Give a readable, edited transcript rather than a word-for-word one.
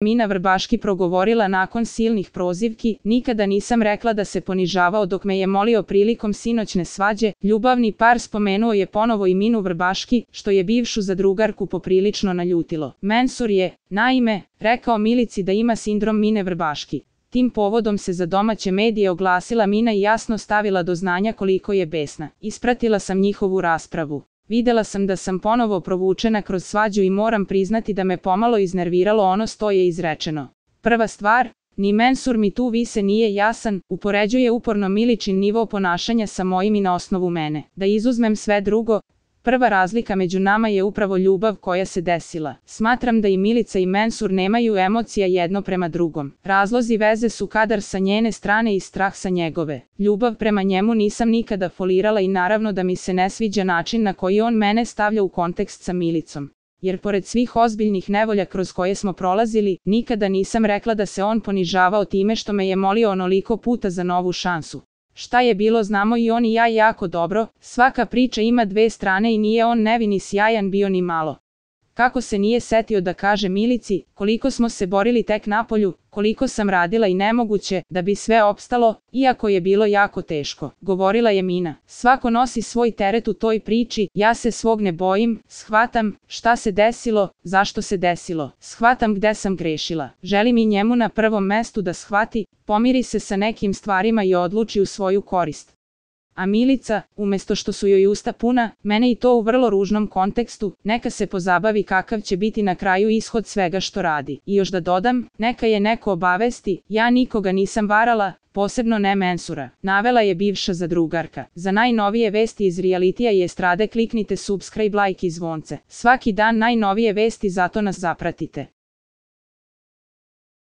Mina Vrbaški progovorila nakon silnih prozivki, nikada nisam rekla da se ponižavao dok me je molio prilikom sinoćne svađe. Ljubavni par spomenuo je ponovo i Minu Vrbaški, što je bivšu zadrugarku poprilično naljutilo. Mensur je, naime, rekao Milici da ima sindrom Mine Vrbaški. Tim povodom se za domaće medije oglasila Mina i jasno stavila do znanja koliko je besna. Ispratila sam njihovu raspravu. Videla sam da sam ponovo provučena kroz svađu i moram priznati da me pomalo iznerviralo ono što je izrečeno. Prva stvar, ni Mensur mi tu više nije jasan, upoređuje uporno Miličin nivo ponašanja sa mojim i na osnovu mene. Da izuzmem sve drugo, prva razlika među nama je upravo ljubav koja se desila. Smatram da i Milica i Mensur nemaju emocija jedno prema drugom. Razlozi veze su kadar sa njene strane i strah sa njegove. Ljubav prema njemu nisam nikada folirala i naravno da mi se ne sviđa način na koji on mene stavlja u kontekst sa Milicom. Jer pored svih ozbiljnih nevolja kroz koje smo prolazili, nikada nisam rekla da se on ponižavao time što me je molio onoliko puta za novu šansu. Šta je bilo znamo i on i ja jako dobro, svaka priča ima dve strane i nije on nevin i sjajan bio ni malo. Kako se nije setio da kaže Milici, koliko smo se borili tek napolju, koliko sam radila i nemoguće, da bi sve opstalo, iako je bilo jako teško, govorila je Mina. Svako nosi svoj teret u toj priči, ja se svog ne bojim, shvatam šta se desilo, zašto se desilo, shvatam gde sam grešila. Želim i njemu na prvom mestu da shvati, pomiri se sa nekim stvarima i odluči u svoju korist. A Milica, umjesto što su joj usta puna, mene i to u vrlo ružnom kontekstu, neka se pozabavi kakav će biti na kraju ishod svega što radi. I još da dodam, neka je neko obavesti, ja nikoga nisam varala, posebno ne Mensura, navela je bivša zadrugarka. Za najnovije vesti iz realitija i estrade kliknite subscribe, like i zvonce. Svaki dan najnovije vesti, zato nas zapratite.